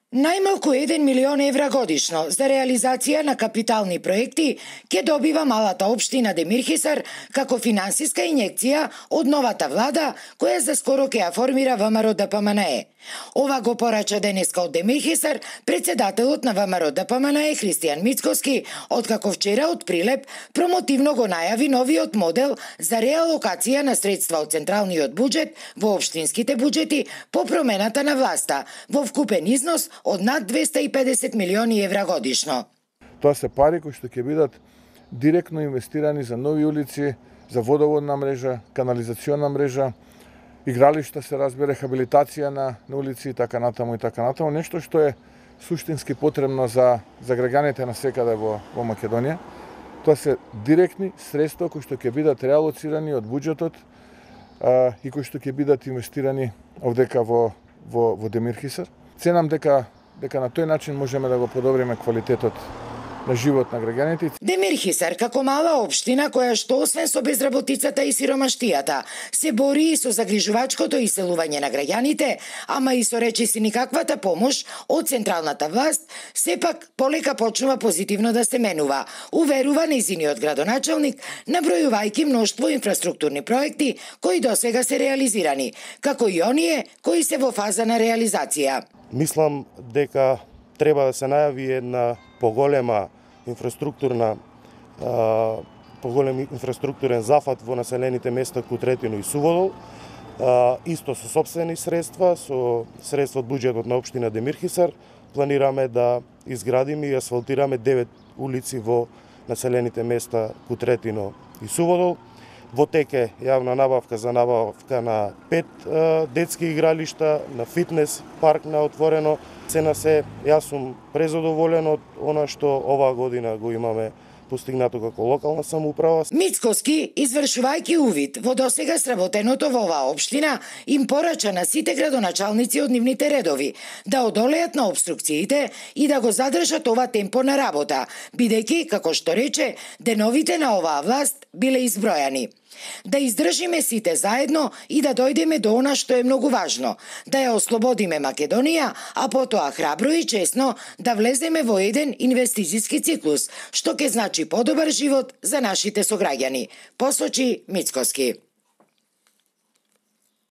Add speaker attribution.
Speaker 1: Најмалку 1 милион евра годишно за реализација на капитални проекти ќе добива малата општина Демирхисар како финансиска инјекција од новата влада која за скоро ќе ја формира ВМРО ДПМНЕ. Ова го порача денеска од Демирхисар председателот на ВМРО ДПМНЕ Христијан Мицкоски, откако вчера од Прилеп промотивно го најави новиот модел за реалокација на средства од централниот буџет во општинските буџети по промената на власта во вкупен износ од над 250 милиони евра годишно.
Speaker 2: Тоа се пари кои што ќе бидат директно инвестирани за нови улици, за водоводна мрежа, канализациона мрежа, игралишта се разбира, рехабилитација на улици и така натаму, нешто што е суштински потребно за граѓаните на секаде во Македонија. Тоа се директни средства кои што ќе бидат реалоцирани од буџетот и кои што ќе бидат инвестирани овдека во Демирхисар. Ценам дека на тој начин можеме да го подобриме квалитетот на живот на граѓаните.
Speaker 1: Демирхисар како мала општина која што освен со безработицата и сиромаштијата се бори и со загрижувачкото иселување на граѓаните, ама и со речиси никаквата помош од централната власт, сепак полека почнува позитивно да се менува, уверува нејзиниот градоначалник, набројувајќи мноштво инфраструктурни проекти кои досега се реализирани, како и оние кои се во фаза на реализација.
Speaker 3: Мислам дека треба да се најави една поголем инфраструктурен зафат во населените места Кутретино и Суводол, исто со сопствени средства, со средства од буџетот на општина Демирхисар, планираме да изградиме и асфалтираме 9 улици во населените места Кутретино и Суводол. Во тек е јавна набавка за набавка на 5 детски игралишта, на фитнес парк на отворено. Јас сум презадоволен од она што оваа година го имаме постигнато како локална самоуправа.
Speaker 1: Мицкоски, извршувајќи увид во досега сработеното во оваа општина, им порача на сите градоначалници од нивните редови да одолеат на обструкциите и да го задржат ова темпо на работа, бидејќи, како што рече, деновите на оваа власт биле избројани. Да издржиме сите заедно и да дојдеме до она што е многу важно, да ја ослободиме Македонија, а потоа храбро и честно да влеземе во еден инвестициски циклус, што ќе значи подобар живот за нашите сограѓани, посочи Мицкоски.